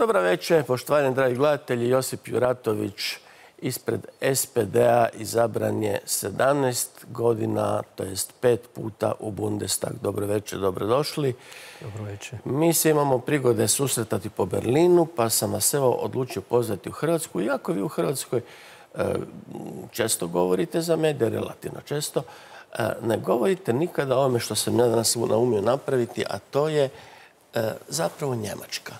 Dobro večer, poštovani dragi gledatelji. Josip Juratović ispred SPD-a izabran je 17 godina, to jest 5 puta u Bundestag. Dobro večer, dobrodošli. Dobro večer. Mi se imamo prigode susretati po Berlinu, pa sam vas evo odlučio pozvati u Hrvatsku. Iako vi u Hrvatskoj često govorite za medije, relativno često, ne govorite nikada o ovome što sam ja danas naumio napraviti, a to je zapravo Njemačka.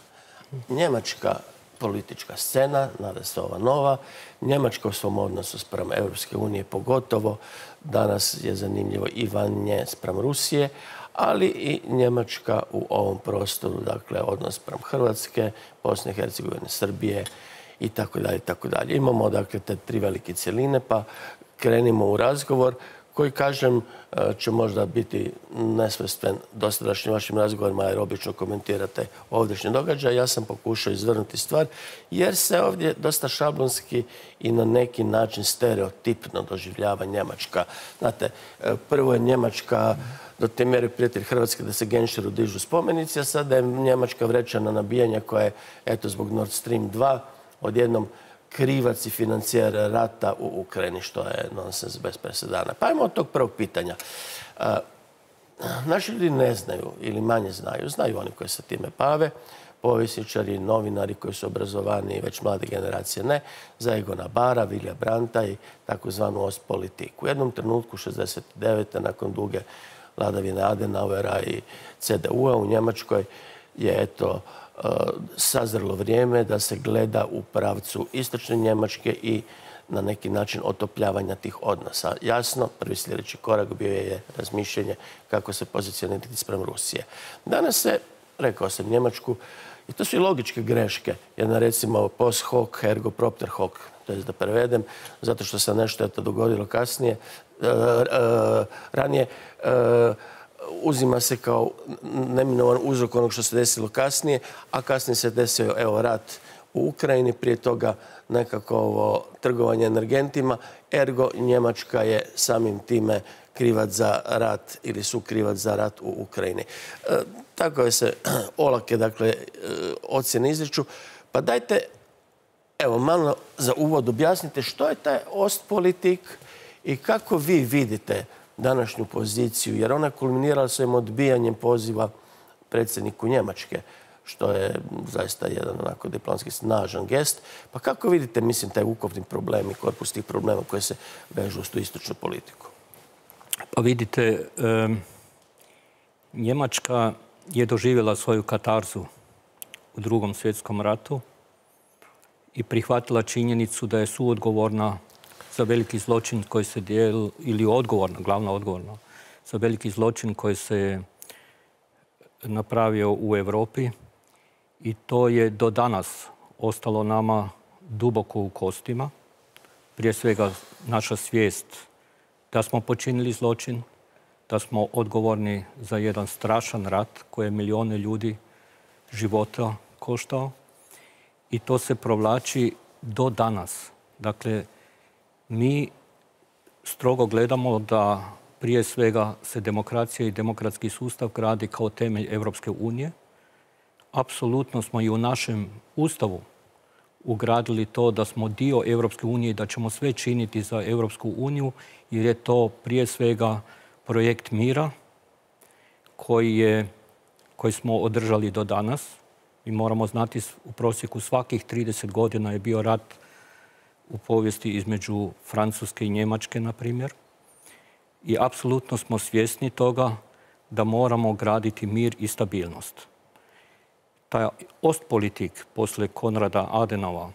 Njemačka politička scena, nada se ova nova, Njemačka u svom odnosu spram Europske unije pogotovo, danas je zanimljivo i van nje spram Rusije, ali i Njemačka u ovom prostoru, dakle odnos spram Hrvatske, Bosne i Hercegovine, Srbije i tako dalje, tako dalje. Imamo dakle te tri velike cjeline, pa krenimo u razgovor koji, kažem, će možda biti nesvojstven dosadašnjim vašim razgovorima jer obično komentirate ovdješnje događaje. Ja sam pokušao izvrnuti stvar jer se ovdje dosta šablonski i na neki način stereotipno doživljava Njemačka. Znate, prvo je Njemačka do te mjere prijatelj Hrvatske da se Genšeru dižu spomenici, a sada je Njemačka vrećana nabijanja koja je, eto, zbog Nord Stream 2 odjednom krivac i financijer rata u Ukrajini, što je nonsens bez presedana. Pa ajmo od tog prvog pitanja. Naši ljudi ne znaju ili manje znaju. Znaju oni koji se time bave, povjesničari, novinari koji su obrazovani, već mlade generacije ne, za Egona Bara, Vilija Brandta i takozvanu Ostpolitik. U jednom trenutku, 69. nakon duge vladavine Adenauera i CDU-a u Njemačkoj je, eto, sazrelo vrijeme da se gleda u pravcu istočne Njemačke i na neki način otopljavanja tih odnosa. Jasno, prvi sljedeći korak bio je razmišljanje kako se pozicionirati spram Rusije. Danas se, rekao sam, Njemačku, i to su i logičke greške, jedna recimo post hoc ergo propter hoc, to je da prevedem, zato što se nešto dogodilo kasnije, ranije, uzima se kao neminovan uzrok onog što se desilo kasnije, a kasnije se desio, evo, rat u Ukrajini, prije toga nekako ovo trgovanje energentima, ergo Njemačka je samim time krivac za rat ili su krivac za rat u Ukrajini. Tako se olake, dakle, ocjene izriču. Pa dajte, evo, malo za uvod objasnite što je taj Ostpolitik i kako vi vidite današnju poziciju, jer ona kulminirala svojim odbijanjem poziva predsjedniku Njemačke, što je zaista jedan onako diplomatski snažan gest. Pa kako vidite, mislim, taj ukupni problem i korpus tih problema koje se vežu uz tu istočnu politiku? Pa vidite, Njemačka je doživjela svoju katarzu u Drugom svjetskom ratu i prihvatila činjenicu da je suodgovorna za veliki zločin koji se dijeli, ili odgovorna, glavna odgovorna, za veliki zločin koji se napravio u Europi i to je do danas ostalo nama duboko u kostima. Prije svega naša svijest da smo počinili zločin, da smo odgovorni za jedan strašan rat koji je milijone ljudi života koštao i to se provlači do danas. Dakle, mi strogo gledamo da prije svega se demokracija i demokratski sustav gradi kao temelj Europske unije. Apsolutno smo i u našem ustavu ugradili to da smo dio Europske unije i da ćemo sve činiti za Europsku uniju, jer je to prije svega projekt mira koji smo održali do danas. Mi moramo znati, u prosjeku svakih 30 godina je bio rat u povijesti između Francuske i Njemačke, na primjer. I apsolutno smo svjesni toga da moramo graditi mir i stabilnost. Taj Ostpolitik poslije Konrada Adenauera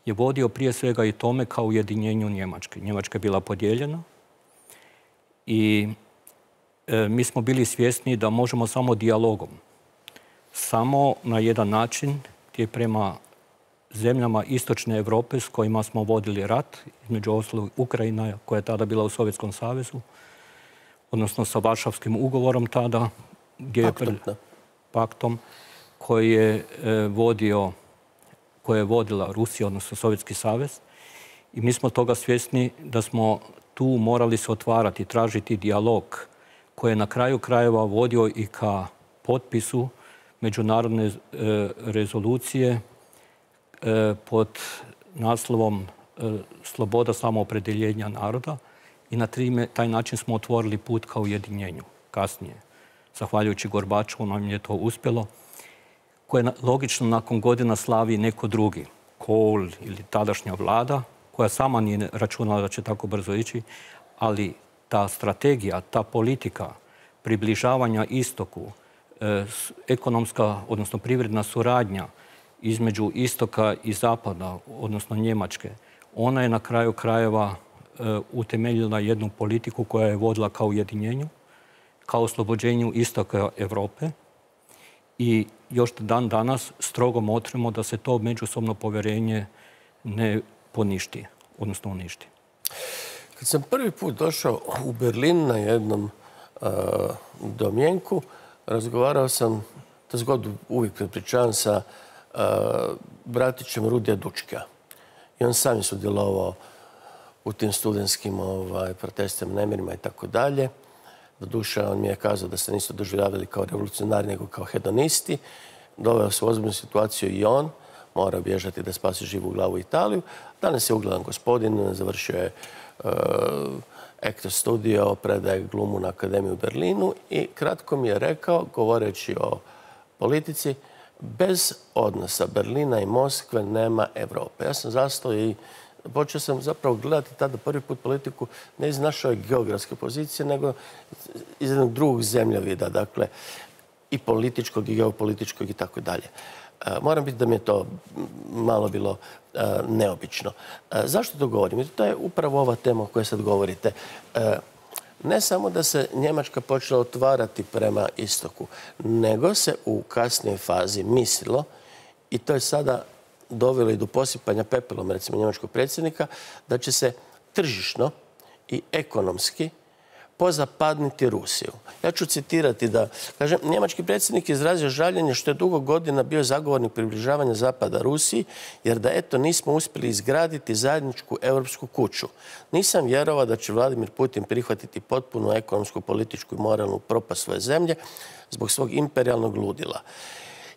je vodio prije svega i tome kao ujedinjenju Njemačke. Njemačka je bila podijeljena i mi smo bili svjesni da možemo samo dijalogom, samo na jedan način gdje prema zemljama istočne Europe s kojima smo vodili rat, između ostalog Ukrajina koja je tada bila u Sovjetskom savezu, odnosno sa Varšavskim ugovorom tada, paktom koji je vodila Rusija, odnosno Sovjetski savez. I mi smo toga svjesni da smo tu morali se otvarati, tražiti dijalog koji je na kraju krajeva vodio i ka potpisu međunarodne rezolucije pod naslovom Sloboda samoopredjeljenja naroda i na taj način smo otvorili put ka ujedinjenju. Kasnije, zahvaljujući Gorbačovu, nam je to uspjelo, koje logično nakon godina slavi neko drugi, Kohl ili tadašnja vlada, koja sama nije računala da će tako brzo ići, ali ta strategija, ta politika približavanja istoku, ekonomska, odnosno privredna suradnja između istoka i zapada, odnosno Njemačke, ona je na kraju krajeva utemeljila jednu politiku koja je vodila ka ujedinjenju, ka oslobođenju istoka Europe i još dan danas strogo motrimo da se to međusobno povjerenje ne poništi, odnosno uništi. Kad sam prvi put došao u Berlin na jednom domjenku, razgovarao sam, to zgodu uvijek prepričavam, sa bratićem Rudija Dučka. I on sam je sudjelovao u tim studentskim protestima, nemirima i tako dalje. Doduše, on mi je kazao da se nisu doživljavali kao revolucionari, nego kao hedonisti. Doveo se u ozbiljnu situaciju i on. Mora bježati da spasi živu glavu Italiju. Danas je ugledan gospodin, završio je actor studio, predaje glumu na Akademiju u Berlinu i kratko mi je rekao, govoreći o politici, bez odnosa Berlina i Moskve nema Europe. Ja sam zastao i počeo sam zapravo gledati tada prvi put politiku ne iz naše geografske pozicije, nego iz jednog drugog zemljovida, dakle i političkog i geopolitičkog i tako dalje. Moram biti da mi je to malo bilo neobično. Zašto to govorim? To je upravo ova tema o kojoj sad govorite. Ne samo da se Njemačka počela otvarati prema istoku, nego se u kasnijoj fazi mislilo, i to je sada dovelo i do posipanja pepelom, recimo, njemačkog predsjednika, da će se tržišno i ekonomski pozapadniti Rusiju. Ja ću citirati da, kažem, njemački predsjednik je izrazio žaljenje što je dugo godina bio zagovornik približavanja Zapada Rusiji, jer da eto nismo uspjeli izgraditi zajedničku europsku kuću. Nisam vjerovao da će Vladimir Putin prihvatiti potpunu ekonomsku, političku i moralnu propast svoje zemlje zbog svog imperijalnog ludila.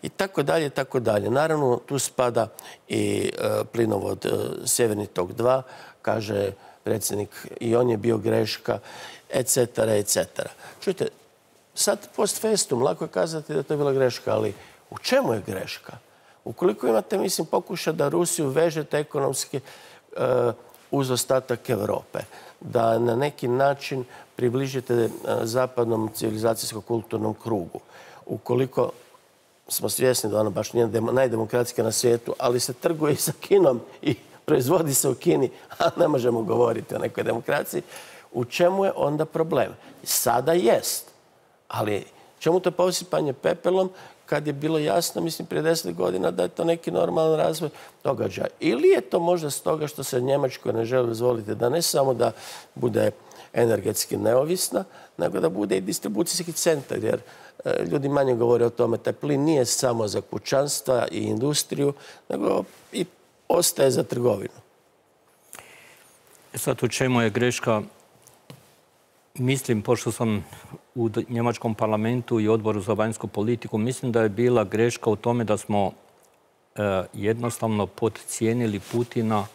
I tako dalje, tako dalje. Naravno, tu spada i plinovod Sjeverni tok 2, kaže predsjednik, i on je bio greška, etc., etc. Čujte, sad post festum, lako je kazati da je to bila greška, ali u čemu je greška? Ukoliko imate, mislim, pokušaj da Rusiju vežete ekonomski uz ostatak Europe, da na neki način približite zapadnom civilizacijsko-kulturnom krugu, ukoliko smo svjesni da ona baš nije najdemokratska na svijetu, ali se trguje i sa Kinom i proizvodi se u Kini, a ne možemo govoriti o nekoj demokraciji, u čemu je onda problem? Sada jest, ali čemu to posipanje pepelom kad je bilo jasno, mislim, prije 10 godina da je to neki normalan razvoj događaja? Ili je to možda stoga što se Njemačkoj ne želi dozvoliti da ne samo da bude energetski neovisna, nego da bude i distribucijski centar, jer ljudi manje govore o tome. Taj plin nije samo za kućanstva i industriju, nego i ostaje za trgovinu. Sad, u čemu je greška? Mislim, pošto sam u njemačkom parlamentu i odboru za vanjsku politiku, mislim da je bila greška u tome da smo jednostavno podcijenili Putina,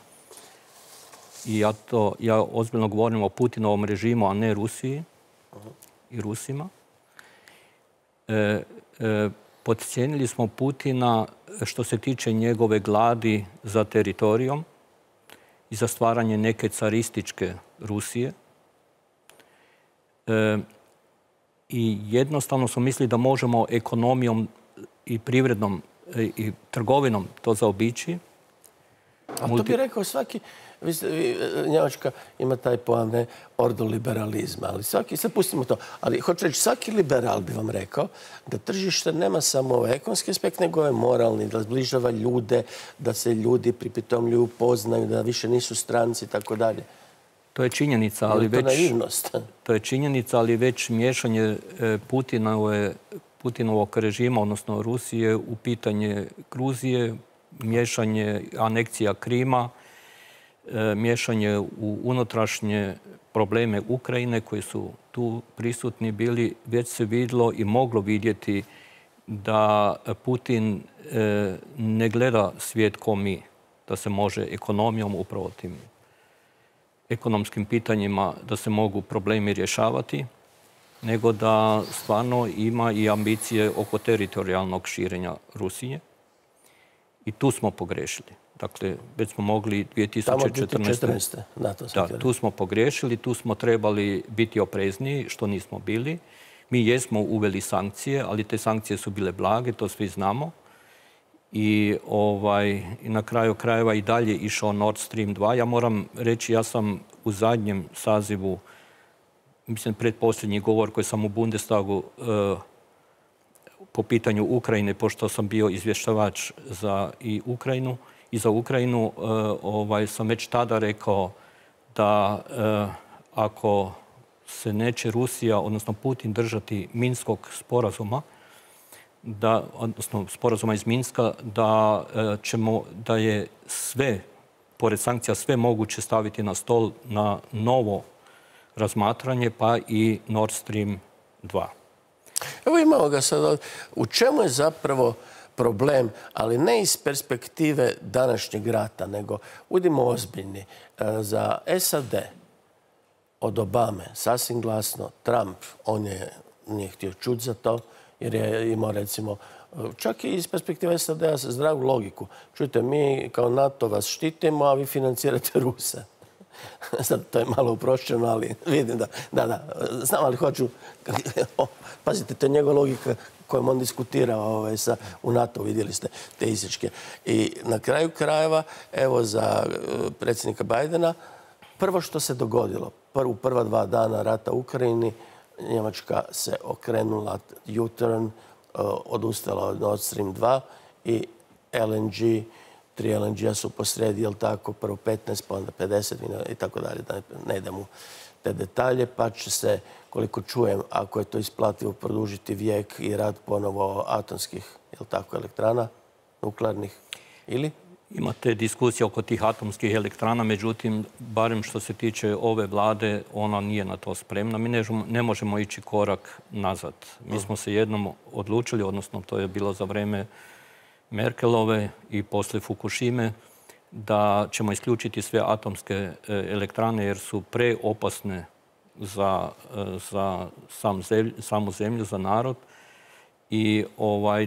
i ja ozbiljno govorim o Putinovom režimu, a ne Rusiji i Rusima. Podcijenili smo Putina što se tiče njegove gladi za teritorijom i za stvaranje neke carističke Rusije. I jednostavno smo mislili da možemo ekonomijom i privrednom i trgovinom to zaobići. A to bi rekao svaki, Njemačka ima taj pojam ordoliberalizma, ali svaki, sad pustimo to, ali hoću reći, svaki liberal bi vam rekao da tržište nema samo ovaj ekonomski aspekt, nego je moralni, da zbližava ljude, da se ljudi pripitomljuju, poznaju, da više nisu stranci i tako dalje. To je činjenica, ali već... To je činjenica, ali već miješanje Putinovog režima, odnosno Rusije, u pitanje Gruzije, miješanje anekcija Krima, miješanje u unutrašnje probleme Ukrajine koji su tu prisutni bili, već se vidjelo i moglo vidjeti da Putin ne gleda svijet ko mi, da se može ekonomijom, upravo tim ekonomskim pitanjima, da se mogu problemi rješavati, nego da stvarno ima i ambicije oko teritorijalnog širenja Rusije. I tu smo pogrešili. Dakle, već smo mogli 2014. Da, tu smo pogriješili, tu smo trebali biti oprezniji, što nismo bili. Mi jesmo uveli sankcije, ali te sankcije su bile blage, to svi znamo. I na kraju krajeva i dalje išao Nord Stream 2. Ja moram reći, ja sam u zadnjem sazivu, mislim, predposljednji govor koji sam u Bundestagu po pitanju Ukrajine, pošto sam bio izvještavač za Ukrajinu, sam već tada rekao da ako se neće Rusija, odnosno Putin, držati Minskog sporazuma, odnosno sporazuma iz Minska, da je sve, pored sankcija, sve moguće staviti na stol na novo razmatranje, pa i Nord Stream 2. Evo imamo ga sad. U čemu je zapravo problem, ali ne iz perspektive današnjeg rata, nego budimo ozbiljni. Za SAD od Obame sasvim glasno Trump, on nije htio čuti za to, jer je imao, recimo, čak i iz perspektive SAD-a zdravu logiku. Čujte, mi kao NATO vas štitimo, a vi financirate Ruse. Sad, to je malo uprošćeno, ali vidim da. Znam, ali hoću... Pazite, to je njegova logika kojom on diskutirao u NATO, vidjeli ste te isječke. I na kraju krajeva, evo, za predsjednika Bajdena, prvo što se dogodilo, u prva 2 dana rata u Ukrajini, Njemačka se okrenula U-turn, odustala od Nord Stream 2 i LNG, 3 LNG-a su posredi, jel tako, prvo 15, pa onda 50 i tako dalje, da ne idem u te detalje, pa će se, koliko čujem, ako je to isplativo, produžiti vijek i rad ponovo atomskih, jel tako, elektrana, nuklearnih, ili? Imate diskusije oko tih atomskih elektrana, međutim, barem što se tiče ove vlade, ona nije na to spremna. Mi ne možemo ići korak nazad. Mi smo se jednom odlučili, odnosno to je bilo za vreme Merkelove i poslije Fukushime, da ćemo isključiti sve atomske elektrane jer su preopasne za samu zemlju, za narod. I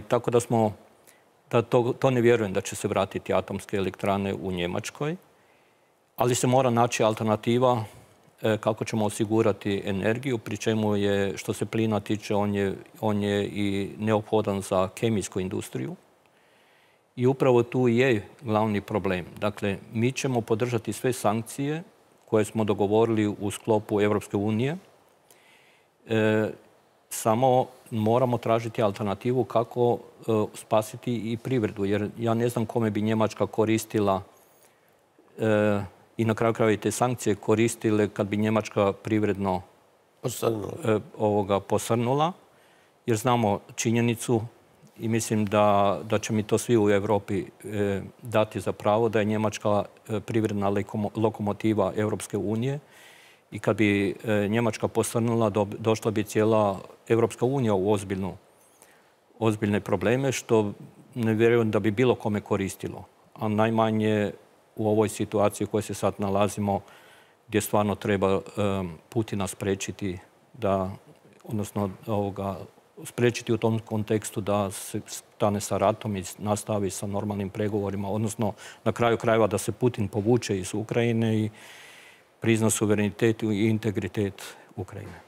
tako da to ne vjerujem da će se vratiti atomske elektrane u Njemačkoj, ali se mora naći alternativa kako ćemo osigurati energiju, pri čemu je, što se plina tiče, on je i neophodan za kemijsku industriju. I upravo tu je glavni problem. Dakle, mi ćemo podržati sve sankcije koje smo dogovorili u sklopu Europske unije. Samo moramo tražiti alternativu kako spasiti i privredu. Jer ja ne znam kome bi Njemačka koristila i na kraju krajeva i te sankcije koristile kad bi Njemačka privredno posrnula. Jer znamo činjenicu i mislim da će mi to svi u Europi dati za pravo da je Njemačka privredna lokomotiva Europske unije i kad bi Njemačka posrnula, došla bi cijela Europska unija u ozbiljne probleme, što ne vjerujem da bi bilo kome koristilo. A najmanje u ovoj situaciji u kojoj se sad nalazimo, gdje stvarno treba Putina spriječiti odnosno spriječiti u tom kontekstu da se stane sa ratom i nastavi sa normalnim pregovorima, odnosno na kraju krajeva da se Putin povuče iz Ukrajine i prizna suverenitet i integritet Ukrajine.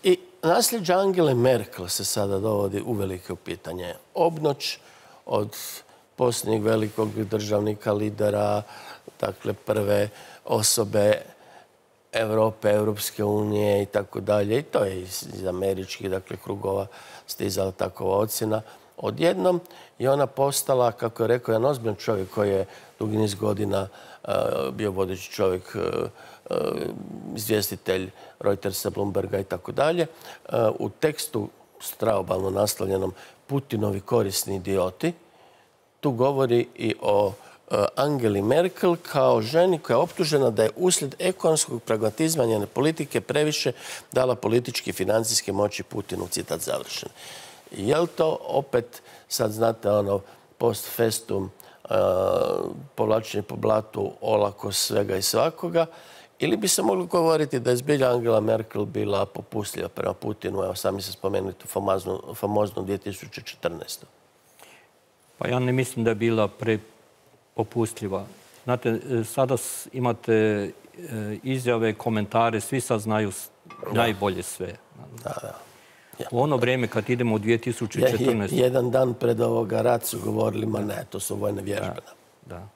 I nasljeđe Angele Merkel se sada dovodi uvelike u pitanje. Obnoć od posljednjeg velikog državnika, lidera, dakle prve osobe Europe, Europske unije i tako dalje. I to je iz američkih krugova stizala takova ocjena. Odjednom je ona postala, kako je rekao, jedan ozbiljan čovjek koji je dugi niz godina bio vodeći čovjek, izvjestitelj Reutersa, Bloomberga i tako dalje. U tekstu straobalno naslovljenom Putinovi korisni idioti, tu govori i o Angeli Merkel kao ženi koja je optužena da je uslijed ekonomskog pragmatizma njene politike previše dala politički i financijske moći Putinu, citat završen. Je li to opet, sad znate, post festum, povlačenje po blatu olako svega i svakoga, ili bi se moglo govoriti da je zbilja Angela Merkel bila popustljiva prema Putinu, evo sami se spomenuli tu famoznu 2014. Pa ja ne mislim da je bila popustljiva. Znate, sada imate izjave, komentare, svi sad znaju najbolje sve. U ono vrijeme kad idemo u 2014. Jedan dan pred ovoga rat su govorili, ma ne, to su vojne vježbe. Da.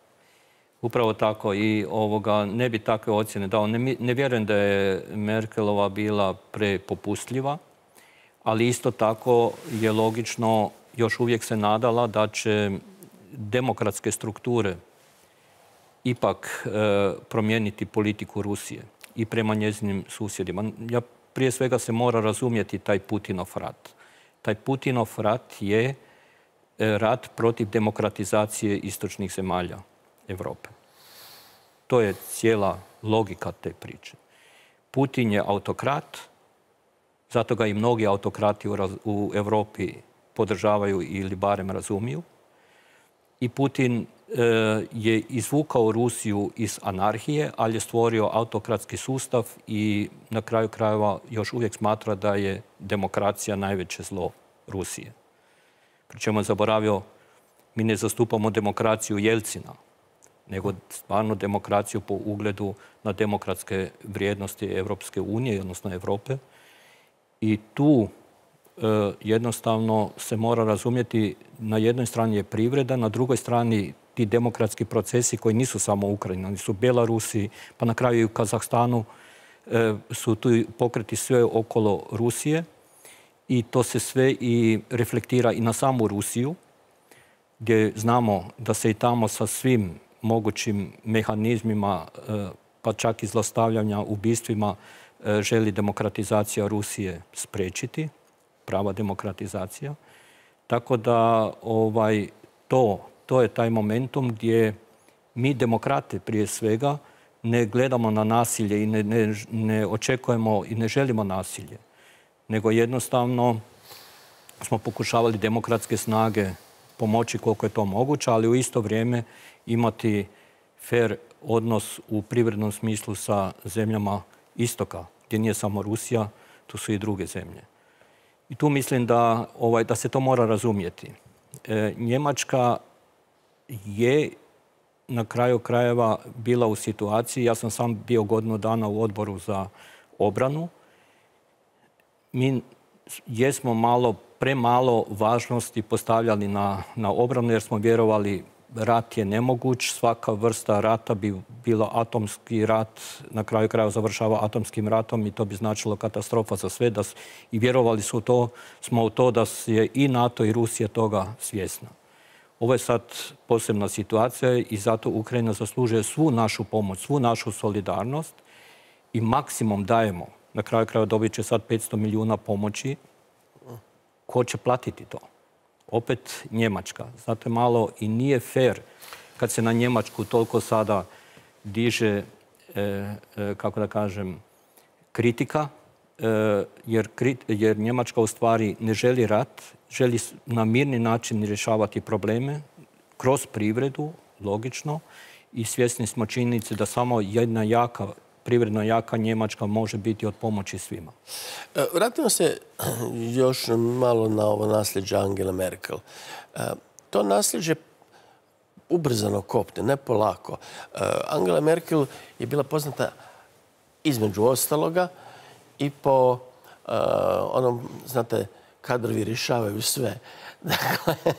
Upravo tako i ne bi takve ocjene dao. Ne vjerujem da je Merkelova bila prepopustljiva, ali isto tako je logično, još uvijek se nadala da će demokratske strukture ipak promijeniti politiku Rusije i prema njezinim susjedima. Prije svega se mora razumjeti taj Putinov rat. Taj Putinov rat je rat protiv demokratizacije istočnih zemalja Europe. To je cijela logika te priče. Putin je autokrat, zato ga i mnogi autokrati u Europi podržavaju ili barem razumiju. I Putin je izvukao Rusiju iz anarhije, ali je stvorio autokratski sustav i na kraju krajeva još uvijek smatra da je demokracija najveće zlo Rusije. Pri čemu je zaboravio, mi ne zastupamo demokraciju Jelcina, nego stvarno demokraciju po ugledu na demokratske vrijednosti Europske unije, odnosno Europe. I tu jednostavno se mora razumjeti, na jednoj strani je privreda, na drugoj strani ti demokratski procesi koji nisu samo u Ukrajini, oni su u Bjelorusiji, pa na kraju i u Kazahstanu su tu pokreti sve okolo Rusije i to se sve i reflektira i na samu Rusiju, gdje znamo da se i tamo sa svim mogućim mehanizmima, pa čak i zlostavljanja, ubistvima, želi demokratizacija Rusije spriječiti, prava demokratizacija. Tako da to je taj momentum gdje mi demokrate prije svega ne gledamo na nasilje i ne očekujemo i ne želimo nasilje, nego jednostavno smo pokušavali demokratske snage pomoći koliko je to moguće, ali u isto vrijeme imati fair odnos u privrednom smislu sa zemljama istoka, gdje nije samo Rusija, tu su i druge zemlje. I tu mislim da se to mora razumjeti. Njemačka je na kraju krajeva bila u situaciji, ja sam sam bio godinu dana u odboru za obranu, mi jesmo premalo važnosti postavljali na obranu jer smo vjerovali rat je nemoguć, svaka vrsta rata bi bila atomski rat, na kraju krajeva završava atomskim ratom i to bi značilo katastrofa za sve. I vjerovali smo u to da je i NATO i Rusija toga svjesna. Ovo je sad posebna situacija i zato Ukrajina zaslužuje svu našu pomoć, svu našu solidarnost i maksimum dajemo. Na kraju krajeva dobit će sad 500 milijuna pomoći. Ko će platiti to? Opet Njemačka. Znate, malo i nije fair kad se na Njemačku toliko sada diže, kako da kažem, kritika, jer Njemačka u stvari ne želi rat, želi na mirni način rješavati probleme kroz privredu, logično, i svjesni smo činjenice da samo jedna privredno jaka Njemačka može biti od pomoći svima. Vratimo se još malo na ovo nasljeđe Angele Merkel. To nasljeđe ubrzano kopne, ne polako. Angela Merkel je bila poznata između ostaloga i po onom, znate, kadrovi rješavaju sve. Dakle,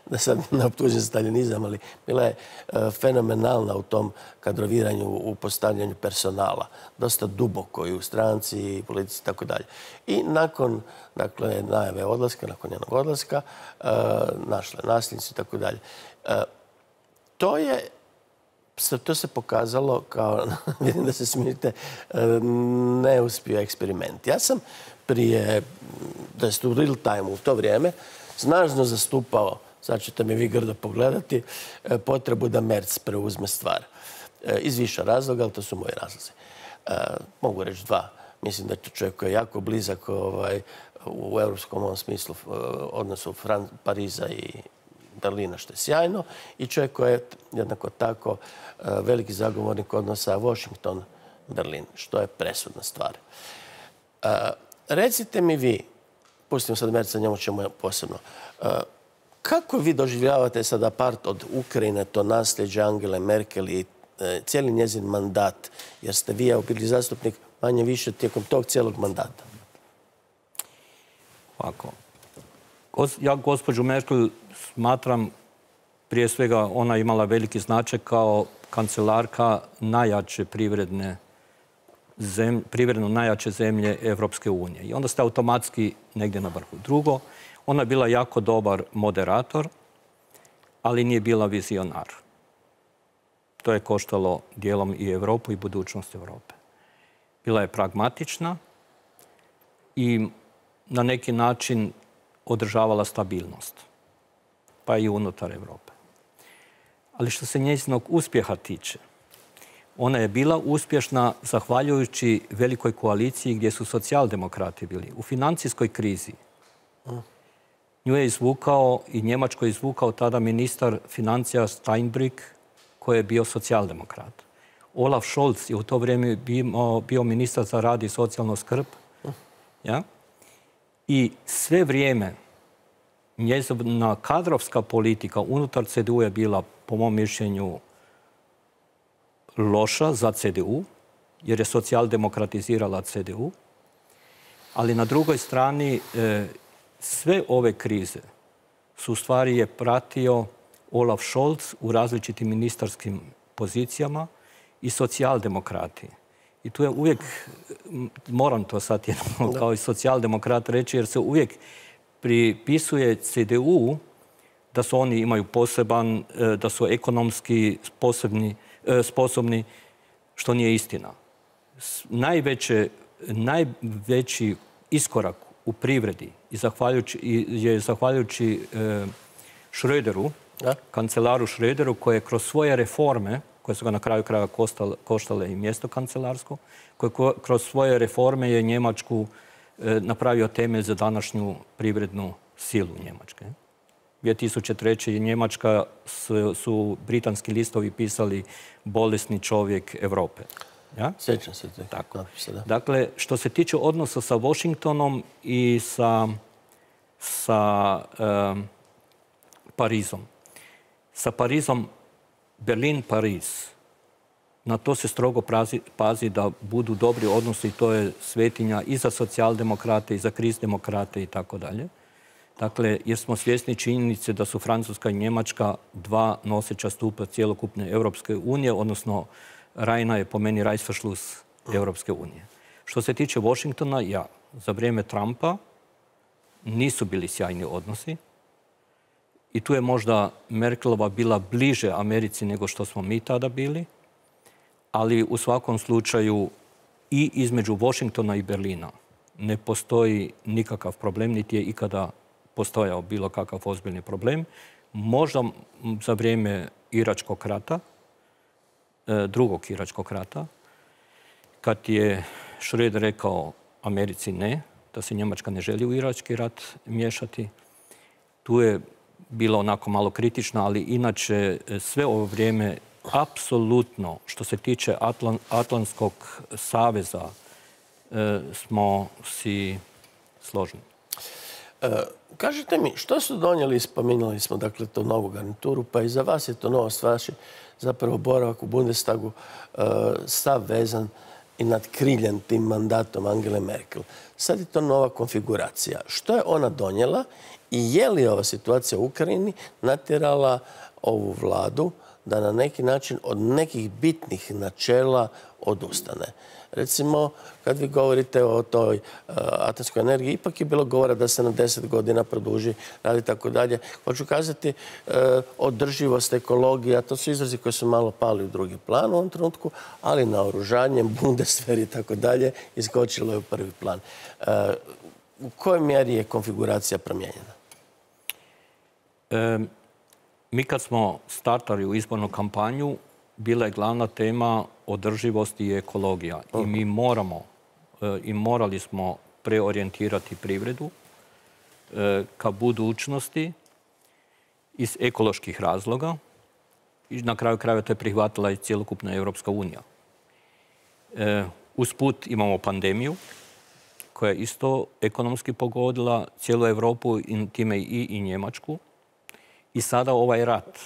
da sad ne optužim staljinizam, ali bila je fenomenalna u tom kadroviranju, u postavljanju personala. Dosta duboko i u stranci, i politici i tako dalje. I nakon najave odlaska, nakon njenog odlaska, našla nasljednicu i tako dalje. To se pokazalo kao, vidim da se smijete, neuspio eksperiment. Ja sam prije, da je u real time u to vrijeme, snažno zastupao sad ćete mi vi grdo pogledati, potrebu da Merz preuzme stvar. Iz više razloga, ali to su moji razlozi. Mogu reći dva. Mislim da je to čovjek koji je jako blizak u europskom ovom smislu odnosu Pariza i Berlina, što je sjajno, i čovjek koji je jednako tako veliki zagovornik odnosa Washington-Berlin, što je presudna stvar. Recite mi vi, pustimo sad Merca, njemu ćemo posebno, kako vi doživljavate sada part od Ukrajine, to nasljeđe Angele Merkel i cijeli njezin mandat, jer ste vi bili zastupnik manje više tijekom tog cijelog mandata? Ovako. Ja gospođu Merkel smatram, prije svega ona imala veliki značaj kao kancelarka najjače privredno najjače zemlje Evropske unije. I onda ste automatski negdje na vrhu. Drugo, ona je bila jako dobar moderator, ali nije bila vizionar. To je koštalo dijelom i Europu i budućnost Europe. Bila je pragmatična i na neki način održavala stabilnost, pa i unutar Europe. Ali što se njezinog uspjeha tiče, ona je bila uspješna zahvaljujući velikoj koaliciji gdje su socijaldemokrati bili. U financijskoj krizi nju je izvukao i Njemačko je izvukao tada ministar financija Steinbrück, koji je bio socijaldemokrat. Olaf Scholz je u to vrijeme bio ministar za rad i socijalnu skrb. Ja? I sve vrijeme njezina kadrovska politika unutar CDU je bila, po mom mišljenju, loša za CDU, jer je socijaldemokratizirala CDU. Ali na drugoj strani sve ove krize su u stvari je pratio Olaf Scholz u različitim ministarskim pozicijama i socijaldemokrati. I tu je uvijek, moram to sad jednom kao i socijaldemokrat reći, jer se uvijek pripisuje CDU da su oni imaju poseban, da su ekonomski sposobni, što nije istina. Najveći iskorak u privredi je zahvaljujući Schröderu, kancelaru Schröderu, koji je kroz svoje reforme, koje su ga na kraju kraja koštale i mjesto kancelarsko, koji kroz svoje reforme je Njemačku napravio temelj za današnju privrednu silu Njemačke. 2003. Njemačka su britanski listovi pisali bolesni čovjek Europe. Ja? Sjećam se. Tako. Dakle, što se tiče odnosa sa Washingtonom i sa Parizom. Sa Parizom Berlin-Pariz. Na to se strogo pazi da budu dobri odnosi i to je svetinja i za socijaldemokrate i za kristdemokrate i tako dalje. Dakle, jer smo svjesni činjenice da su Francuska i Njemačka dva noseća stupa cjelokupne Europske unije, odnosno Rajna je po meni Reißverschluss Europske unije. Što se tiče Washingtona, za vrijeme Trumpa nisu bili sjajni odnosi. I tu je možda Merkelova bila bliže Americi nego što smo mi tada bili, ali u svakom slučaju i između Washingtona i Berlina ne postoji nikakav problem, niti je ikada postojao bilo kakav ozbiljni problem. Možda za vrijeme Iračkog rata, drugog Iračkog rata, kad je Schröder rekao Americi ne, da se Njemačka ne želi u Irački rat miješati, tu je bila onako malo kritična, ali inače sve ovo vrijeme apsolutno što se tiče Atlantskog saveza smo si složni. Kažite mi, što su donijeli, spominjali smo dakle to novu garnituru, pa i za vas je to novost, vaš je zapravo boravak u Bundestagu sav vezan i nadkriljen tim mandatom Angele Merkel. Sad je to nova konfiguracija. Što je ona donijela i je li ova situacija u Ukrajini natjerala ovu vladu da na neki način od nekih bitnih načela odustane? Recimo, kad vi govorite o toj atomskoj energiji, ipak je bilo govora da se na 10 godina produži rad i tako dalje. Hoću kazati, održivost, ekologija, to su izrazi koji su malo pali u drugi plan u ovom trenutku, ali naoružanje, Bundeswehr i tako dalje iskočilo je u prvi plan. U kojoj mjeri je konfiguracija promijenjena? mi kad smo startali u izbornu kampanju, bila je glavna tema održivost i ekologija. I mi morali smo preorijentirati privredu ka budućnosti iz ekoloških razloga. I na kraju krajeva to je prihvatila i cjelokupna Europska unija. Usput imamo pandemiju koja je isto ekonomski pogodila cijelu Europu i time i Njemačku. I sada ovaj rat.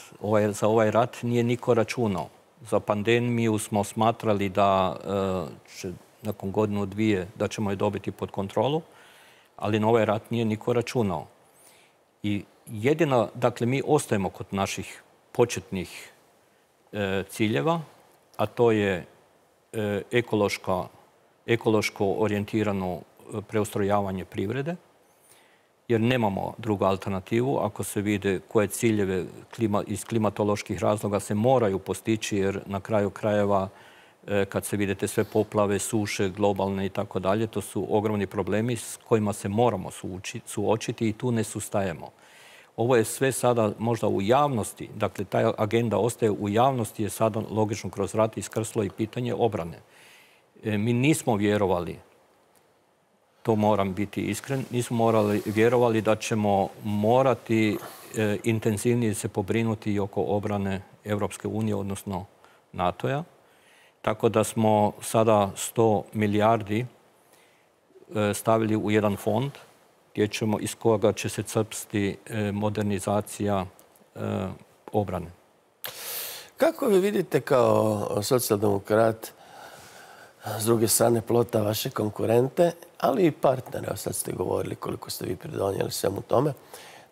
Za ovaj rat nije niko računao. Za pandemiju smo smatrali da će nakon godinu, dvije, da ćemo je dobiti pod kontrolu, ali na ovaj rat nije niko računao. I jedino, dakle, mi ostajemo kod naših početnih ciljeva, a to je ekološko orijentirano preustrojavanje privrede, jer nemamo drugu alternativu. Ako se vide koje ciljeve iz klimatoloških razloga se moraju postići, jer na kraju krajeva kad se vidite sve poplave, suše, globalne i tako dalje, to su ogromni problemi s kojima se moramo suočiti i tu ne sustajemo. Ovo je sve sada možda u javnosti, dakle ta agenda ostaje u javnosti, je sada logično kroz rat iskrslo i pitanje obrane. Mi nismo vjerovali, to moram biti iskren, nismo vjerovali da ćemo morati intenzivnije se pobrinuti i oko obrane Europske unije, odnosno NATO-a. Tako da smo sada 100 milijardi stavili u jedan fond iz koga će se crpsti modernizacija obrane. Kako vi vidite kao socijaldemokrat s druge strane plota vaše konkurente, ali i partnere, evo sad ste govorili koliko ste vi pridonijeli svemu tome,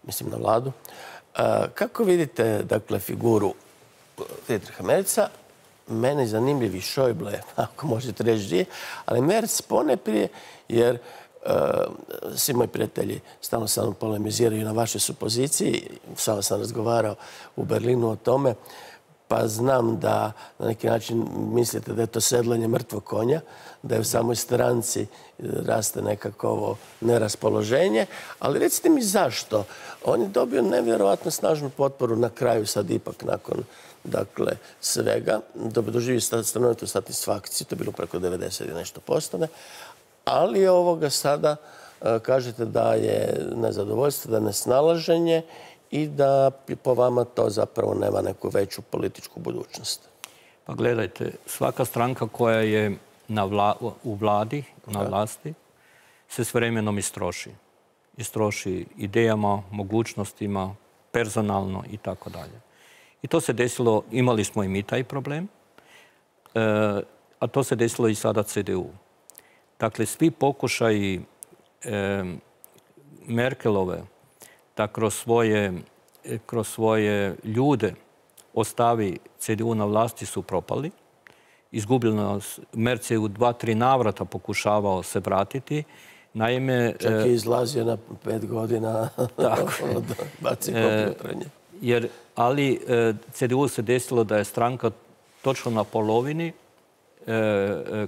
mislim na vladu. Kako vidite, dakle, figuru Friedricha Merza? Mene zanimljiv i Schäuble, ako možete reći gdje, ali Merz poneprije, jer svi moji prijatelji stalno sa mnom polemiziraju na vašoj supoziciji. Samo sam razgovarao u Berlinu o tome, pa znam da na neki način mislite da je to sedlanje mrtvog konja, da je u samoj stranci raste nekako neraspoloženje, ali recite mi zašto. On je dobio nevjerojatno snažnu potporu na kraju, sad ipak nakon svega, doživi stanovitu satisfakciju, to je bilo preko 90 i nešto postane, ali ovoga sada kažete da je nezadovoljstvo, da je nesnalaženje i da po vama to zapravo nema neku veću političku budućnost. Pa gledajte, svaka stranka koja je u vladi, na vlasti, se s vremenom istroši. Istroši idejama, mogućnostima, personalno i tako dalje. I to se desilo, imali smo i mi taj problem, a to se desilo i sada CDU. Dakle, svi pokušaji Merkelove da kroz svoje ljude ostavi CDU na vlasti su propali. Izgubljeno, Merz je u 2-3 navrata pokušavao se vratiti. Naime, čak je izlazio na 5 godina od baci kompjutranje. Ali CDU se desilo da je stranka točno na polovini,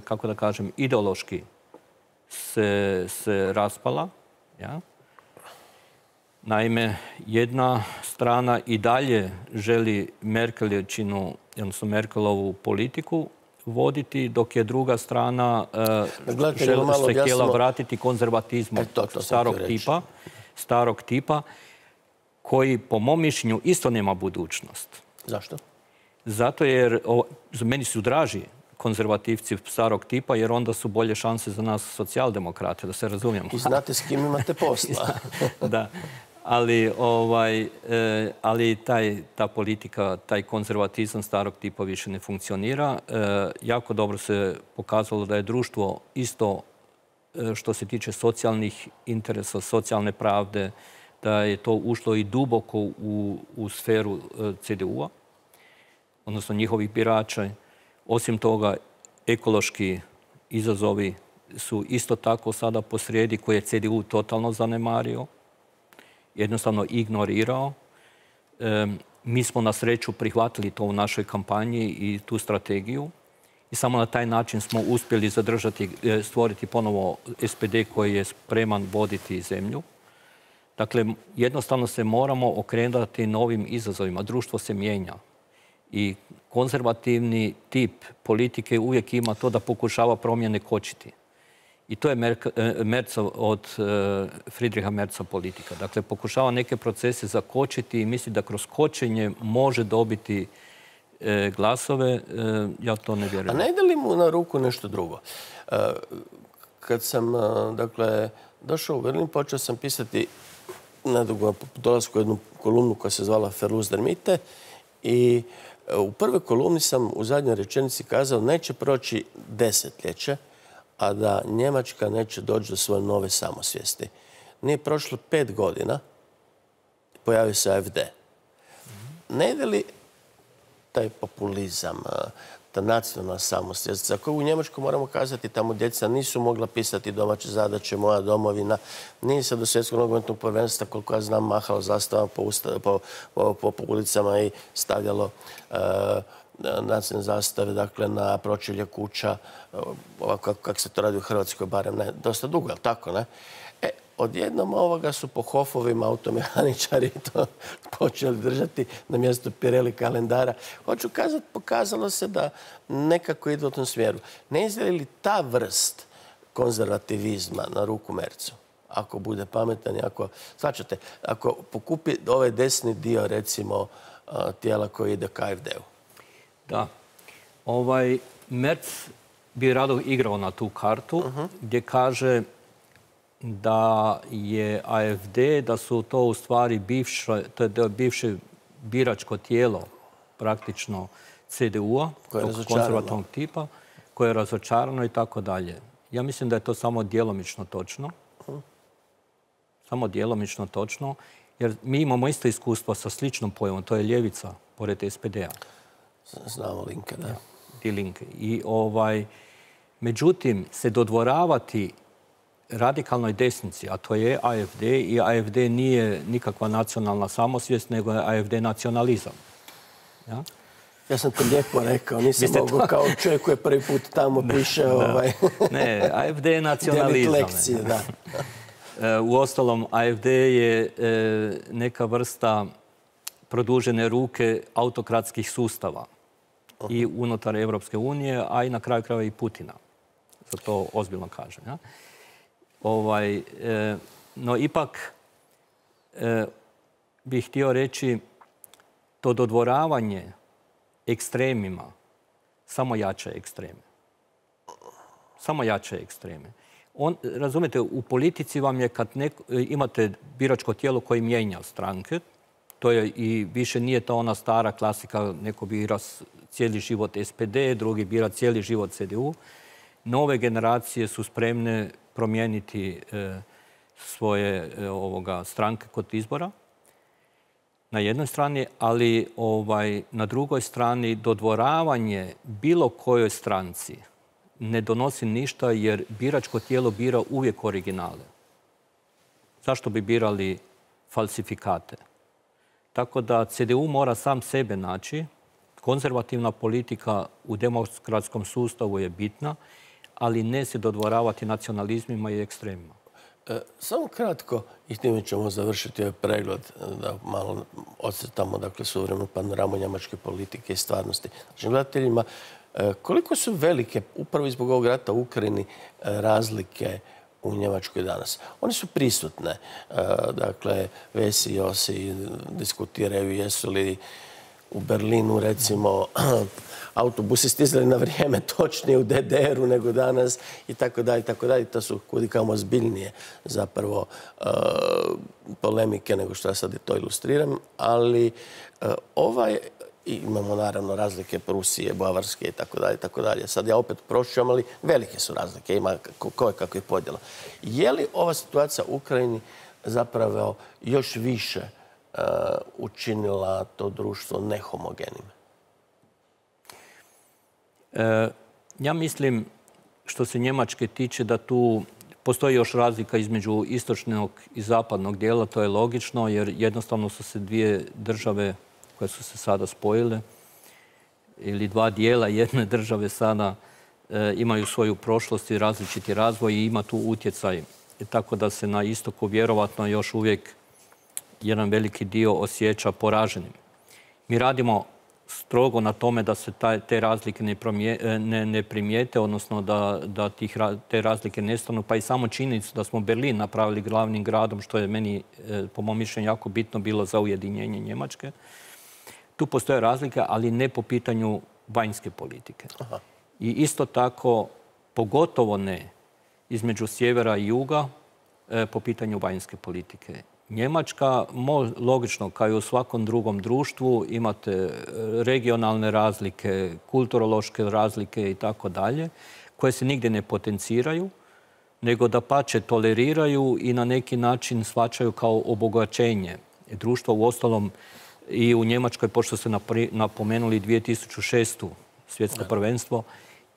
kako da kažem, ideološki se raspala. Ja? Naime, jedna strana i dalje želi Merkelovu politiku voditi, dok je druga strana se htjela vratiti konzervatizmu starog tipa, koji po mom mišljenju isto nema budućnost. Zašto? Zato jer meni su draži konzervativci starog tipa, jer onda su bolje šanse za nas socijaldemokrate, da se razumijemo. I znate s kim imate posla. Da, ali ta politika, taj konzervatizam starog tipa više ne funkcionira. Jako dobro se pokazalo da je društvo isto što se tiče socijalnih interesa, socijalne pravde, da je to ušlo i duboko u sferu CDU-a, odnosno njihovih birača. Osim toga, ekološki izazovi su isto tako sada posrijedi, koje je CDU totalno zanemario, jednostavno ignorirao. Mi smo na sreću prihvatili to u našoj kampanji i tu strategiju. I samo na taj način smo uspjeli stvoriti ponovo SPD koji je spreman voditi zemlju. Dakle, jednostavno se moramo okrenuti novim izazovima. Društvo se mijenja. I konzervativni tip politike uvijek ima to da pokušava promjene kočiti. I to je od Friedricha Merza politika. Dakle, pokušava neke procese zakočiti i misli da kroz kočenje može dobiti glasove. Ja to ne vjerujem. A ne ide li mu na ruku nešto drugo? Kad sam, dakle, došao u Berlin, počeo sam pisati nedugo po dolasku jednu kolumnu koja se zvala Verlust der Mitte i u prvoj kolumni sam u zadnjoj rečenici kazao neće proći desetljeće, a da Njemačka neće doći do svoje nove samosvijesti. Nije prošlo 5 godina, pojavio se AfD. Ne ide li taj populizam, ta nacionalna samosvijest, za koju u Njemačkoj moramo kazati, tamo djeca nisu mogla pisati domaće zadaće, moja domovina, nije se do svjetskog nogometnog prvenstva, koliko ja znam, mahalo zastavama po ulicama i stavljalo nacionalne zastave, dakle, na pročelje kuća, ovako kako se to radi u Hrvatskoj, barem ne, dosta dugo, je li tako, ne? Odjednom ovoga su po hofovima automehaničari to počeli držati na mjestu Pirelli kalendara. Hoću kazati, pokazalo se da nekako ide u tom smjeru. Ne izgleda li ta vrst konzervativizma na ruku Merzu? Ako bude pametan i ako, svačate, ako pokupi ovaj desni dio, recimo, tijela koji ide ka AfD-u. Da. Merz bi rado igrao na tu kartu gdje kaže da je AfD, da su to u stvari bivše biračko tijelo praktično CDU-a, konzervativnog tipa, koje je razočarano i tako dalje. Ja mislim da je to samo djelomično točno. Samo djelomično točno, jer mi imamo isto iskustvo sa sličnom pojavom, to je ljevica pored SPD-a. Znamo Linke, da. Die Linke. I međutim, se dodvoravati radikalnoj desnici, a to je AfD, i AfD nije nikakva nacionalna samosvijest, nego je AfD nacionalizam. Ja? Ja sam to lijepo rekao, nisam mogu kao čovjek koji prvi put tamo piše Ne, AfD je nacionalizam. Lekcije, da. Uostalom, AfD je neka vrsta produžene ruke autokratskih sustava i unutar Evropske unije, a i na kraju krajeva i Putina. Za to ozbiljno kažem. Ja? No ipak bih htio reći to dodvoravanje ekstremima samo jača ekstreme. Samo jača ekstreme. Razumijete, u politici vam je kad imate biračko tijelo koje mijenja stranke, to je i više nije to ona stara klasika, neko bira cijeli život SPD, drugi bira cijeli život CDU. Nove generacije su spremne promijeniti svoje stranke kod izbora na jednoj strani, ali na drugoj strani dodvoravanje bilo kojoj stranci ne donosi ništa jer biračko tijelo bira uvijek originale. Zašto bi birali falsifikate? Tako da CDU mora sam sebe naći. Konzervativna politika u demokratskom sustavu je bitna, ali ne se dodvoravati nacionalizmima i ekstremima. Samo kratko, i time ćemo završiti ovaj pregled, da malo ocrtamo suvremenu panoramu njemačke politike i stvarnosti. Znači, gledateljima, koliko su velike, upravo zbog ovog rata u Ukrajini, razlike u Njemačkoj danas? One su prisutne. Dakle, Vesi i Josi diskutiraju jesu li u Berlinu, recimo, autobusi stizali na vrijeme točnije u DDR-u nego danas i tako dalje, i tako dalje. To su kudikamo ozbiljnije zapravo polemike nego što ja sad to ilustriram, ali imamo naravno razlike Prusije, Bavarske i tako dalje, i tako dalje. Sad ja opet prošćam, ali velike su razlike, ima koje kakvih podjela. Je li ova situacija u Ukrajini zapravo još više učinila to društvo nehomogenim? Ja mislim, što se Njemačke tiče, da tu postoji još razlika između istočnog i zapadnog dijela. To je logično, jer jednostavno su se dvije države koje su se sada spojile, ili dva dijela jedne države sada imaju svoju prošlost i različiti razvoj i ima tu utjecaj. Tako da se na istoku vjerovatno još uvijek jedan veliki dio osjeća poraženim. Mi radimo strogo na tome da se te razlike ne primijete, odnosno da te razlike nestanu. Pa i samo činjenica da smo Berlin napravili glavnim gradom, što je meni, po mom mišljenju, jako bitno bilo za ujedinjenje Njemačke. Tu postoje razlike, ali ne po pitanju vanjske politike. Aha. I isto tako, pogotovo ne između sjevera i juga, po pitanju vanjske politike. Njemačka, logično, kao i u svakom drugom društvu, imate regionalne razlike, kulturološke razlike i tako dalje, koje se nigdje ne potenciraju, nego dapače toleriraju i na neki način shvaćaju kao obogaćenje društva. Uostalom, i u Njemačkoj, pošto ste napomenuli 2006. svjetsko prvenstvo,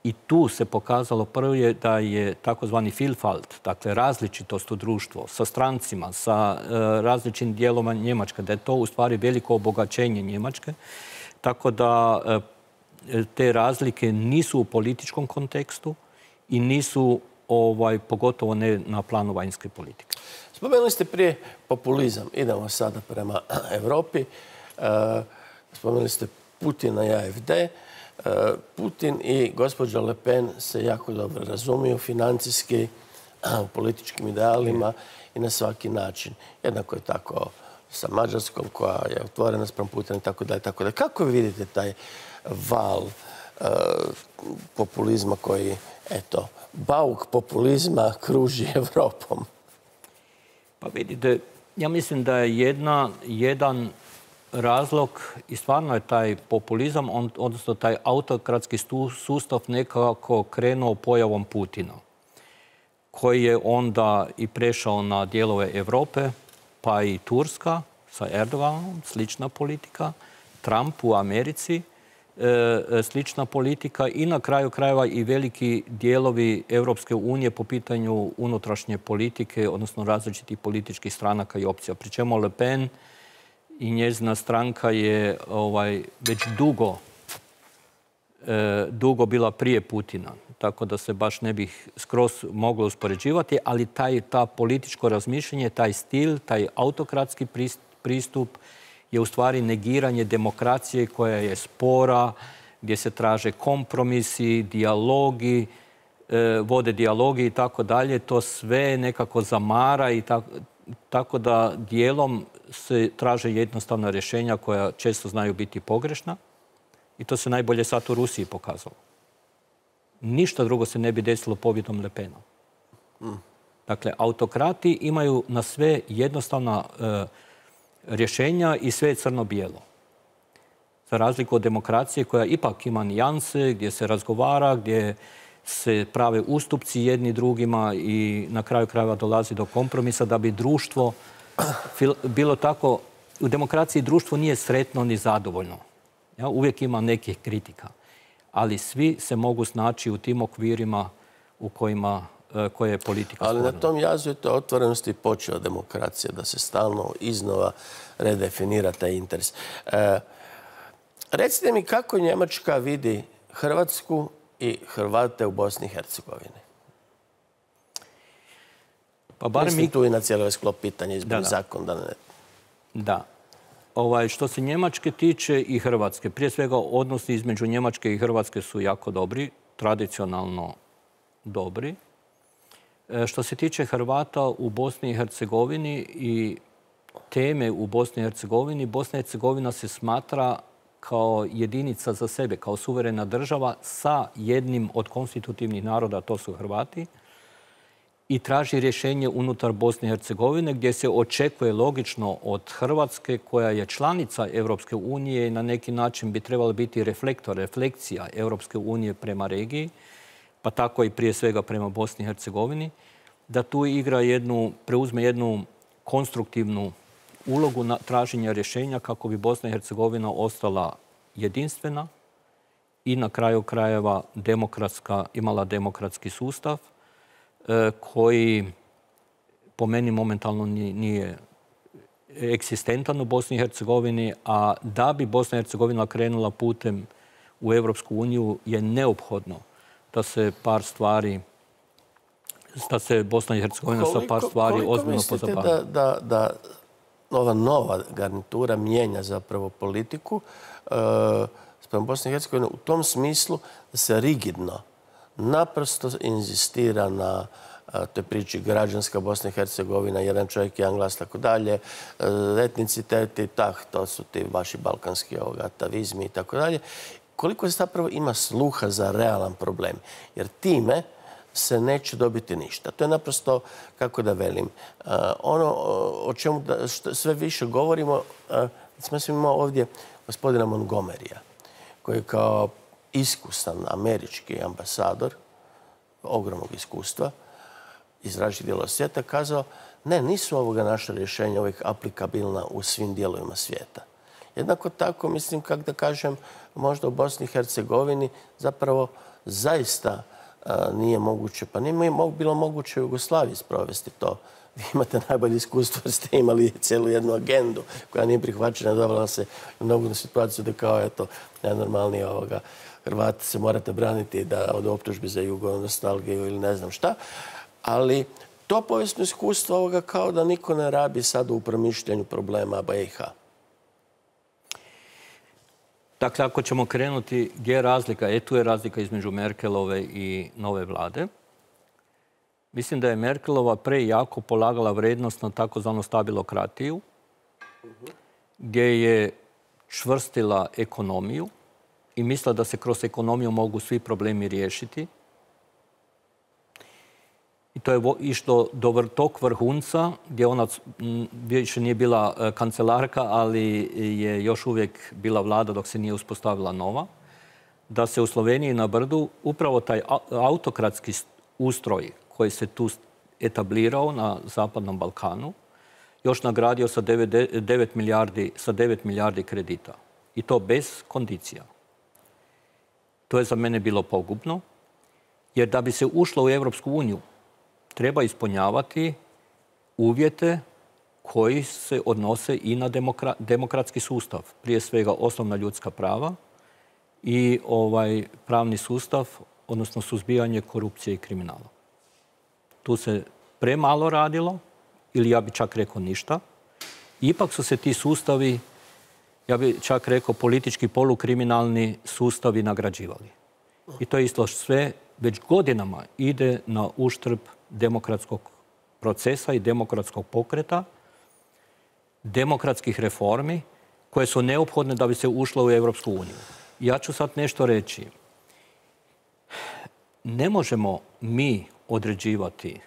i tu se pokazalo prvo da je takozvani Vielfalt, dakle različitost u društvu, sa strancima, sa različitim dijeloma Njemačke, da je to u stvari veliko obogaćenje Njemačke. Tako da te razlike nisu u političkom kontekstu i nisu pogotovo ne na planu vanjske politike. Spomenuli ste prije populizam. Idemo sada prema Europi. Spomenuli ste Putina i AfD. Putin i gospođa Le Pen se jako dobro razumiju financijski, u političkim idealima i na svaki način. Jednako je tako sa Mađarskom koja je otvorena spram Putina i tako dalje. Kako vi vidite taj val populizma koji, eto, bauk populizma kruži Evropom? Pa vidite, ja mislim da je jedan razlog i stvarno je taj populizam, odnosno taj autokratski sustav nekako krenuo pojavom Putina, koji je onda i prešao na dijelove Europe, pa i Turska sa Erdoganom, slična politika, Trump u Americi, slična politika i na kraju krajeva i veliki dijelovi Europske unije po pitanju unutrašnje politike, odnosno različitih političkih stranaka i opcija. Pri čemu Le Pen i njezina stranka je već dugo bila prije Putina. Tako da se baš ne bih skroz moglo uspoređivati, ali ta političko razmišljanje, taj stil, taj autokratski pristup je u stvari negiranje demokracije koja je spora, gdje se traže kompromisi, dijalogi, vode dijalogi i tako dalje. To sve nekako zamara i tako da dijelom se traže jednostavna rješenja koja često znaju biti pogrešna. I to se najbolje sad u Rusiji pokazalo. Ništa drugo se ne bi desilo pobjedom Le Pena. Dakle, autokrati imaju na sve jednostavna rješenja i sve je crno-bijelo. Za razliku od demokracije koja ipak ima nijanse, gdje se razgovara, gdje se prave ustupci jedni drugima i na kraju krajeva dolazi do kompromisa da bi društvo bilo tako. U demokraciji društvo nije sretno ni zadovoljno. Uvijek ima nekih kritika. Ali svi se mogu snaći u tim okvirima u koje je politika stvorila. Ali na tom jazu je to otvorenosti počeo demokracija, da se stalno iznova redefinira taj interes. Recite mi kako Njemačka vidi Hrvatsku i Hrvate u Bosni i Hercegovini? Mislim tu i na cijeli sklop pitanja izbog zakona. Da. Što se Njemačke tiče i Hrvatske, prije svega odnosi između Njemačke i Hrvatske su jako dobri, tradicionalno dobri. Što se tiče Hrvata u Bosni i Hercegovini i teme u Bosni i Hercegovini, Bosna i Hercegovina se smatra kao jedinica za sebe, kao suverena država sa jednim od konstitutivnih naroda, to su Hrvati, i traži rješenje unutar Bosne i Hercegovine gdje se očekuje logično od Hrvatske koja je članica Europske unije i na neki način bi trebala biti reflekcija Europske unije prema regiji, pa tako i prije svega prema Bosni i Hercegovini, da tu preuzme jednu konstruktivnu ulogu na traženje rješenja kako bi Bosna i Hercegovina ostala jedinstvena i na kraju krajeva imala demokratski sustav koji po meni momentalno nije eksistentan u Bosni i Hercegovini, a da bi Bosna i Hercegovina krenula putem u Europsku uniju je neophodno da se Bosna i Hercegovina sa par stvari ozbiljno pozabavi. Koliko mislite da ova nova garnitura mijenja zapravo politiku spram Bosne i Hercegovine u tom smislu da se rigidno naprosto inzistira na toj priči građanska Bosna i Hercegovina, jedan čovjek, jedan glas, tako dalje, etniciteti, to su ti vaši balkanski atavizmi i tako dalje. Koliko se zapravo ima sluha za realan problem? Jer time se neće dobiti ništa. To je naprosto, kako da velim, ono o čemu sve više govorimo, smo imali ovdje gospodina Montgomerya, koji je kao iskusan američki ambasador, ogromnog iskustva, iz različitih dijelova svijeta, kazao ne, nisu ovoga naša rješenja uvijek aplikabilna u svim dijelovima svijeta. Jednako tako, mislim, kako da kažem, možda u Bosni i Hercegovini zapravo zaista nije moguće, pa nije bilo moguće u Jugoslaviji sprovesti to. Vi imate najbolje iskustvo jer ste imali cijelu jednu agendu koja nije prihvaćena, dovela se u mnogu situaciju da kao, eto, najnormalniji Hrvati se morate braniti od optužbi za jugonostalgiju ili ne znam šta. Ali to povijesno iskustvo ovoga kao da niko ne rabi sad u promišljanju problema BiH. Dakle, ako ćemo krenuti gdje je razlika, tu je razlika između Merkelove i nove vlade. Mislim da je Merkelova prejako polagala vrednost na takozvanu stabilokratiju, gdje je čvrstila ekonomiju i mislila da se kroz ekonomiju mogu svi problemi riješiti. I to je išlo do tog vrhunca gdje ona više nije bila kancelarka, ali je još uvijek bila vlada dok se nije uspostavila nova. Da se u Sloveniji na Brdu upravo taj autokratski ustroj koji se tu etablirao na Zapadnom Balkanu još nagradio sa 9 milijardi kredita. I to bez kondicija. To je za mene bilo pogubno, jer da bi se ušlo u Europsku uniju treba ispunjavati uvjete koji se odnose i na demokratski sustav. Prije svega osnovna ljudska prava i pravni sustav, odnosno suzbijanje korupcije i kriminala. Tu se premalo radilo, ili ja bih čak rekao ništa. Ipak su se ti sustavi, ja bih čak rekao politički polukriminalni sustavi nagrađivali. I to isto sve već godinama ide na uštrb demokratskog procesa i demokratskog pokreta, demokratskih reformi koje su neophodne da bi se ušlo u Europsku uniju. Ja ću sad nešto reći. Ne možemo mi određivati,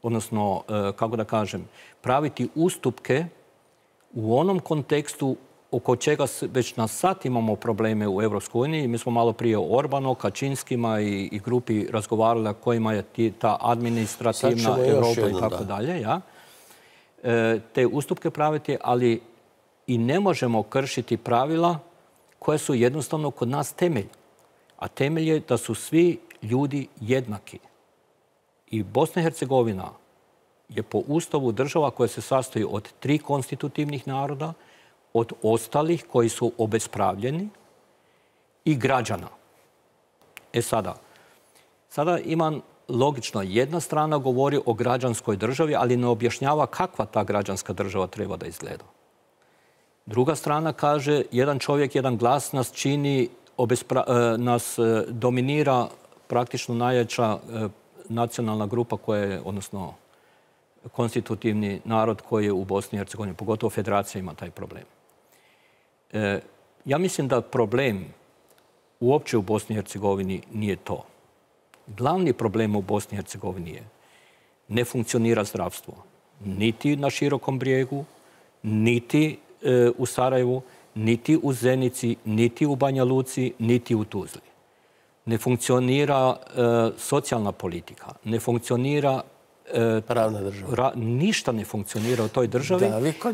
odnosno, kako da kažem, praviti ustupke u onom kontekstu oko čega već na sad imamo probleme u Europskoj uniji. Mi smo malo prije o Orbanu, Kačinskima i grupi razgovarali kojima je ta administrativna Europa i tako dalje. Te ustupke praviti, ali i ne možemo kršiti pravila koje su jednostavno kod nas temelj. A temelj je da su svi ljudi jednaki. I Bosna i Hercegovina je po Ustavu država koja se sastoji od 3 konstitutivnih naroda, od ostalih koji su obespravljeni i građana. Sada imam logično, jedna strana govori o građanskoj državi, ali ne objašnjava kakva ta građanska država treba da izgleda. Druga strana kaže, jedan čovjek, jedan glas nas čini, nas dominira praktično najjača nacionalna grupa koja je, odnosno konstitutivni narod koji je u Bosni i Hercegovini, pogotovo federacija ima taj problem. Ja mislim da problem uopće u Bosni i Hercegovini nije to. Glavni problem u Bosni i Hercegovini je ne funkcionira zdravstvo. Niti na Širokom brijegu, niti u Sarajevu, niti u Zenici, niti u Banja Luci, niti u Tuzli. Ne funkcionira socijalna politika, ne funkcionira pravna država. Ništa ne funkcionira u toj državi,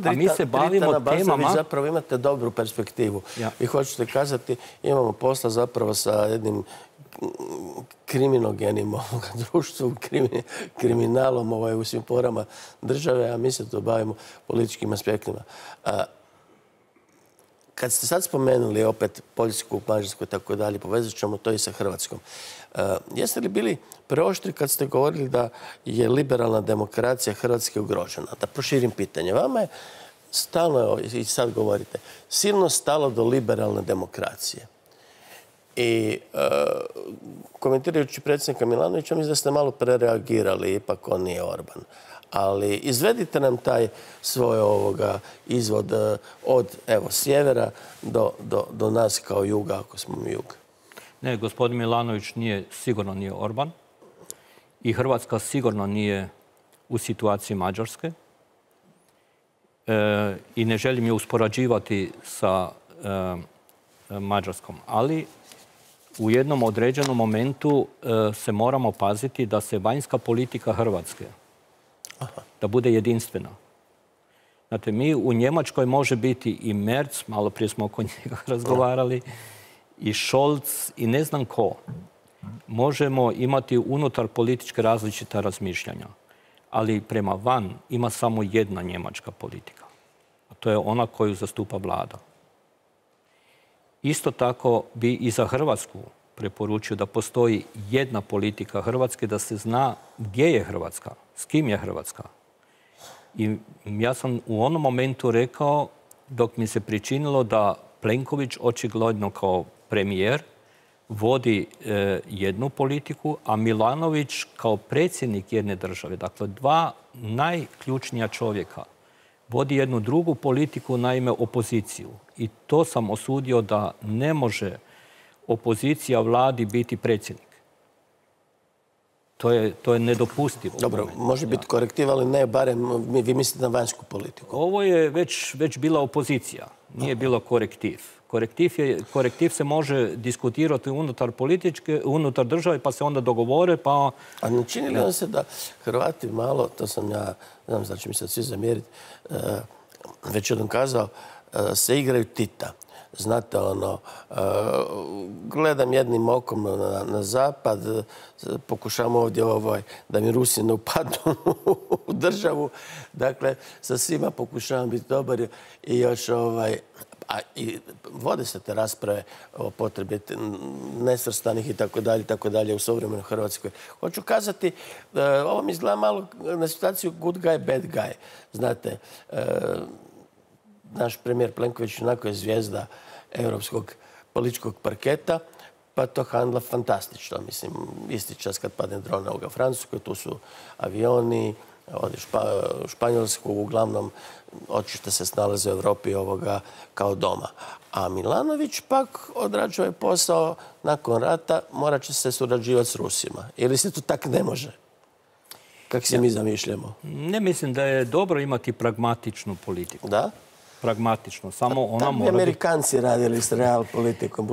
a mi se bavimo temama... Vi zapravo imate dobru perspektivu. Vi hoćete kazati, imamo posla zapravo sa jednim kriminogenim društvom, kriminalom u svim porama države, a mi se to bavimo političkim aspektima. Kad ste sad spomenuli opet Poljsku, Mađarsku i tako dalje, povezat ćemo to i sa Hrvatskom. Jeste li bili preoštri kad ste govorili da je liberalna demokracija Hrvatske ugrožena? Da proširim pitanje. Vama je stalno, i sad govorite, silno stalo do liberalne demokracije. I komentirajući predsjednika Milanovića, mislim da ste malo prereagirali, ipak on nije Orban. Ali izvedite nam taj svoj izvod od sjevera do nas kao juga, ako smo mi jug. Ne, gospodin Milanović sigurno nije Orban i Hrvatska sigurno nije u situaciji Mađarske i ne želim je uspoređivati sa Mađarskom, ali u jednom određenom momentu se moramo paziti da se vanjska politika Hrvatske da bude jedinstvena. Znate, mi u Njemačkoj može biti i Merz, malo prije smo oko njega razgovarali, i Scholz i ne znam ko. Možemo imati unutar političke različita razmišljanja, ali prema van ima samo jedna njemačka politika. A to je ona koju zastupa vlada. Isto tako bi i za Hrvatsku preporučio da postoji jedna politika Hrvatske, da se zna gdje je Hrvatska, s kim je Hrvatska. I ja sam u onom momentu rekao, dok mi se pričinilo da Plenković očigledno kao premijer vodi jednu politiku, a Milanović kao predsjednik jedne države, dakle dva najključnija čovjeka, vodi jednu drugu politiku, naime opoziciju. I to sam osudio da ne može opozicija vladi biti predsjednik. To je nedopustivo. Dobro, može biti korektiv, ali ne barem vi mislite na vanjsku politiku. Ovo je već bila opozicija, nije bilo korektiv. Korektiv se može diskutirati unutar države, pa se onda dogovore, pa... A ne čini li vam se da Hrvati malo, to sam ja, znam da će mi se svi zamjeriti, već jednom kazao, se igraju Tita. Znate, gledam jednim okom na zapad, pokušavam ovdje da mi Rusi ne upadnu u državu. Dakle, sa svima pokušavam biti dobar i još i vode se te rasprave o potrebi nesvrstanih i tako dalje u suvremenoj Hrvatskoj. Hoću kazati, ovo mi izgleda malo na situaciju good guy, bad guy. Znate, naš premijer Plenković onako je zvijezda europskog političkog parketa, pa to handla fantastično. Mislim, isti čas kad padne dron u Francuskoj, tu su avioni, odi u Španjolsku, uglavnom očito se snalaze u Europi kao doma. A Milanović pak odrađuje posao nakon rata, morat će se surađivati s Rusima. Ili se to tak ne može? Kako se mi zamišljamo? Ne mislim da je dobro imati pragmatičnu politiku. Da? Pragmatično. Samo ona mora biti... Amerikanci radili s real politikom.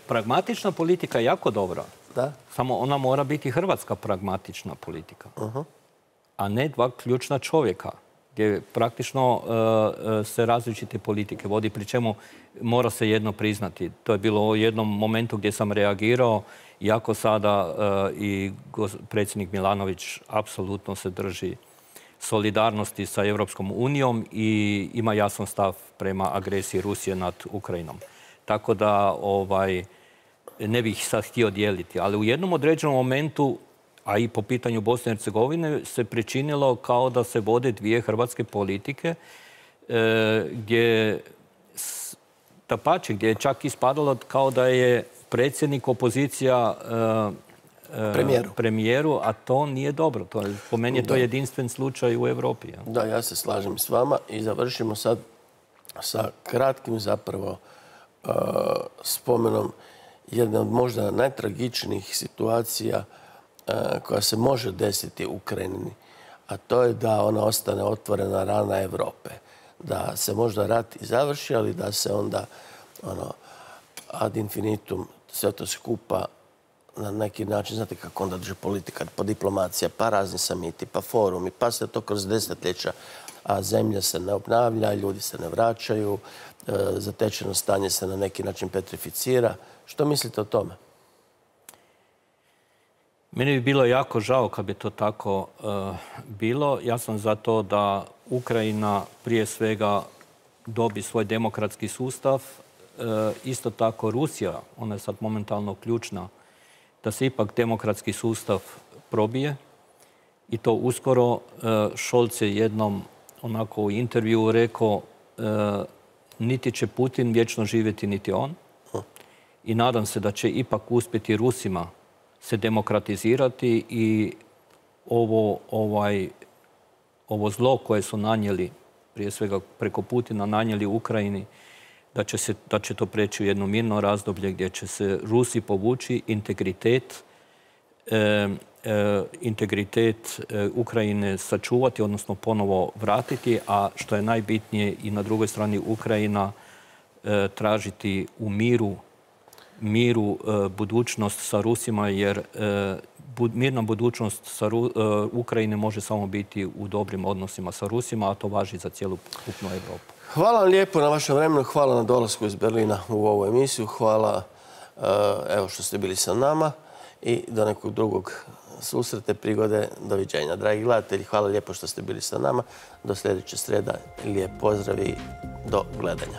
Pragmatična politika je jako dobra. Da? Samo ona mora biti hrvatska pragmatična politika. A ne dva ključna čovjeka, gdje praktično se različite politike vodi, pri čemu mora se jedno priznati. To je bilo u jednom momentu gdje sam reagirao, iako sada i predsjednik Milanović apsolutno se drži solidarnosti sa Europskom unijom i ima jasan stav prema agresiji Rusije nad Ukrajinom. Tako da ne bih sad htio dijeliti. Ali u jednom određenom momentu, a i po pitanju Bosne i Hercegovine, se pričinilo kao da se vode dvije hrvatske politike, gdje je čak ispadalo kao da je predsjednik opozicija premijeru, a to nije dobro. Po meni je to jedinstven slučaj u Europi. Da, ja se slažem s vama i završimo sad sa kratkim zapravo spomenom jedne od možda najtragičnijih situacija koja se može desiti u Ukrajini, a to je da ona ostane otvorena rana Europe. Da se možda rat i završi, ali da se onda ad infinitum sve to skupa na neki način, znate kako onda drži politika, pa diplomacija, pa razni samiti, pa forumi, pa se to kroz desetljeća, a zemlja se ne obnavlja, ljudi se ne vraćaju, zatečeno stanje se na neki način petrificira. Što mislite o tome? Meni bi bilo jako žao kad bi to tako bilo. Ja sam za to da Ukrajina prije svega dobi svoj demokratski sustav. Isto tako Rusija, ona je sad momentalno ključna, da se ipak demokratski sustav probije. I to uskoro. Scholz je jednom onako u intervjuu rekao niti će Putin vječno živjeti, niti on. I nadam se da će ipak uspjeti Rusima se demokratizirati i ovo zlo koje su nanijeli, prije svega preko Putina, nanijeli Ukrajini, da će to preći u jedno mirno razdoblje gdje će se Rusi povući, integritet Ukrajine sačuvati, odnosno ponovo vratiti, a što je najbitnije i na drugoj strani Ukrajina tražiti u miru budućnost sa Rusima, jer mirna budućnost Ukrajine može samo biti u dobrim odnosima sa Rusima, a to važi za cijelu ukupnu Europu. Hvala vam lijepo na vašem vremenu, hvala na dolasku iz Berlina u ovu emisiju, hvala što ste bili sa nama i do nekog drugog susreta, prigode, doviđenja. Dragi gledatelji, hvala lijepo što ste bili sa nama. Do sljedeće srijede, lijep pozdrav i do gledanja.